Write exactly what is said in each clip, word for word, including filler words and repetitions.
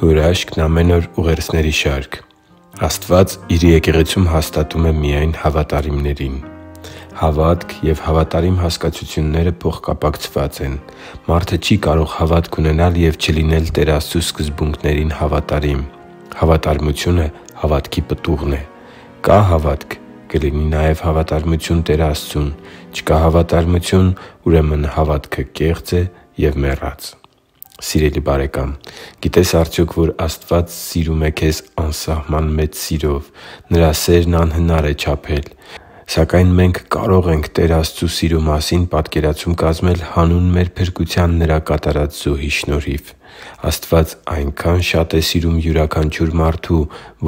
Քո հրաշքն ամեն օր ուղերձների շարք։ Աստված Իր եկեղեցում հաստատում է միայն հավատարիմներին։ Հավատք և հավատարիմ հասկացությունները փոխկապակցված են։ Մարդը չի կարող հավատք ունենալ և չլինել Տեր Աստծու սկզբունքներին հավատարիմ։ Հավատարմությունը հավատքի պտուղն է։ Կա հավատք, կլինի նաև հավատարմություն Տեր Աստծուն։ Չկա հավատարմություն, ուրեմն հավատքը կեղծ է և մեռած։ Սիրելի՛ բարեկամ, գիտե՞ս արդյոք, որ Աստված սիրում է քեզ անսահման մեծ սիրով։ Նրա սերն անհնար է չափել։ Սակայն մենք կարող ենք Տեր Աստծու սիրո մասին պատկերացում կազմել հանուն մեր փրկության Նրա կատարած զոհի շնորհիվ։ Աստված այնքա՜ն շատ է սիրում յուրաքանչյուր մարդու,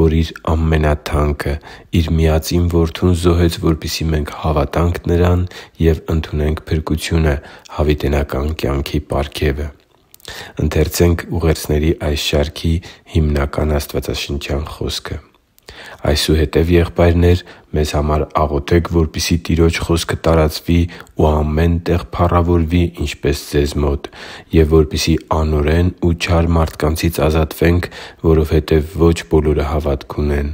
որ Իր ամենաթանկը՝ Իր միածին Որդուն զոհեց, որպեսզի մենք հավատանք Նրան և ընդունենք փրկությունը՝ հավիտենական կյանքի պարգևը։ «Այսուհետև, եղբայրնե՛ր, մեզ համար աղոթե՛ք, որպեսզի Տիրոջ խոսքը տարածվի ու ամեն տեղ փառավորվի, ինչպես ձեզ մոտ, և որպեսզի անօրեն ու չար մարդկանցից ազատվենք, որովհետև ոչ բոլորը հավատք ունեն։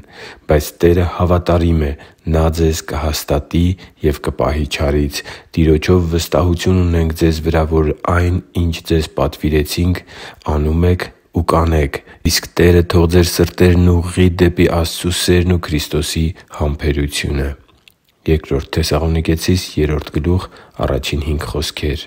Բայց Տերը հավատարիմ է. Նա ձեզ կհաստատի և կպահի չարից։ Տիրոջով վստահություն ունենք ձեզ վրա, որ այն, ինչ ձեզ պատվիրեցինք, անում եք ու կանեք։ Իսկ Տերը թող ձեր սրտերն ուղղի դեպի Աստծու սերն ու Քրիստոսի համբերությունը» (Բ Թեսաղոնիկեցիս երրորդ գլուխ առաջին հինգ խոսքեր)։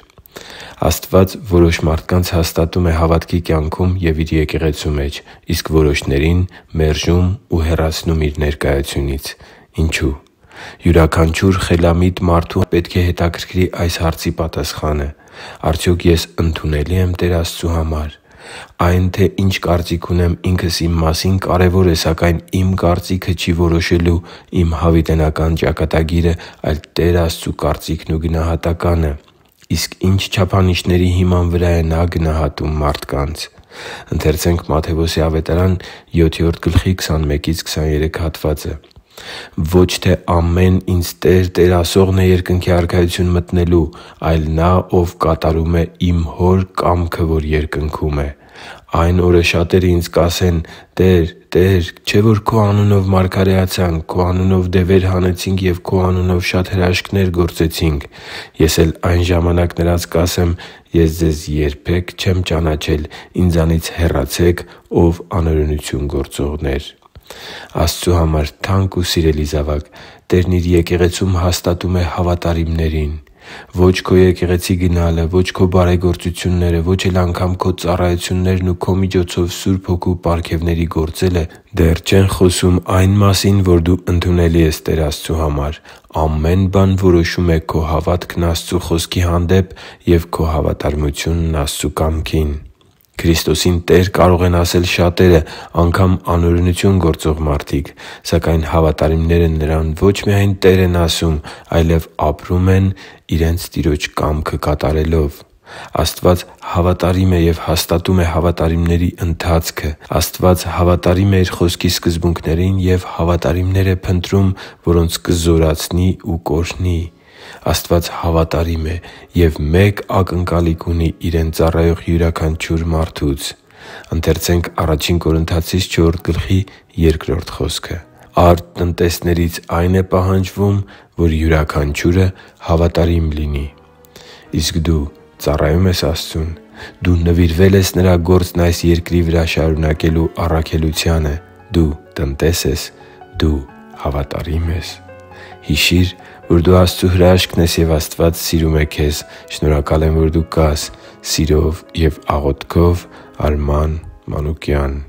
Աստված որոշ մարդկանց հաստատում է հավատքի կյանքում և Իր եկեղեցու մեջ, իսկ որոշներին՝ մերժում ու հեռացնում Իր ներկայությունից։ Ինչո՞ւ։ Յուրաքանչյուր խելամիտ մարդու պետք է հետաքրքրի այս հարցի պատասխանը. արդյոք ես ընդունելի եմ Տեր Աստծու համար։ Այն, թե ինչ կարծիք ունեմ ինքս իմ մասին, կարևոր է, սակայն իմ կարծիքը չի որոշելու իմ հավիտենական ճակատագիրը, այլ Տեր Աստծու կարծիքն ու գնահատականը։ Իսկ ի՞նչ չափանիշների հիման վրա է Նա գնահատում մարդկանց։ «Ոչ թե ամեն ինձ «Տե՛ր, Տե՛ր» ասողն է երկնքի Արքայություն մտնելու, այլ նա, ով կատարում է իմ Հոր կամքը, որ երկնքում է։ Այն օրը շատերը ինձ կասեն. «Տե՛ր, Տե՛ր, չէ՞ որ Քո անունով մարգարեացանք, Քո անունով դևեր հանեցինք և Քո անունով շատ հրաշքներ գործեցինք»։ Ես էլ այն ժամանակ նրանց կասեմ. «Ես ձեզ երբե՛ք չեմ ճանաչել. ինձանից հեռացե՛ք, ով անօրենություն գործողներ» (Մատթեոս Աստծու համար թանկ ու սիրելի՛ զավակ, Տերն Իր եկեղեցում հաստատում է հավատարիմներին։ Ո՛չ քո եկեղեցի գնալը, ո՛չ քո բարեգործությունները, ո՛չ էլ անգամ քո ծառայություններն ու քո միջոցով Սուրբ Հոգու պարգևների գործելը դեռ չեն խոսում այն մասին, որ դու ընդունելի ես Տեր Աստծու համար։ Ամեն բան որոշում է քո հավատքն Աստծու Խոսքի հանդեպ և քո հավատարմությունն Աստծու կամքին։ Քրիստոսին Տեր կարող են ասել շատերը, անգամ անօրենություն գործող մարդիկ։ Սակայն հավատարիմները Նրան ոչ միայն Տեր են ասում, այլև ապրում են իրենց Տիրոջ կամքը կատարելով։ Աստված հավատարիմ է և հաստատում է հավատարիմների ընթացքը։ Աստված հավատարիմ է Իր Խոսքի սկզբունքներին և հավատարիմներ է փնտրում, որոնց կզորացնի ու կօրհնի։ Աստված հավատարիմ է և մեկ ակնկալիք ունի Իրեն ծառայող յուրաքանչյուր մարդուց։ «Արդ տնտեսներից այն է պահանջվում, որ յուրաքանչյուրը հավատարիմ լինի»։ Իսկ դու ծառայո՞ւմ ես Աստծուն։ Դու նվիրվե՞լ ես Նրա գործն այս երկրի վրա շարունակելու առաքելությանը։ Դու տնտե՞ս ես։ Դու հավատարի՞մ ես։ Հիշի՛ր, որ դու Աստծո հրաշքն ես, և Աստված սիրում է քեզ։ Շնորհակալ եմ, որ դու կա՛ս։ Սիրով և աղոթքով, Արման Մանուկյան։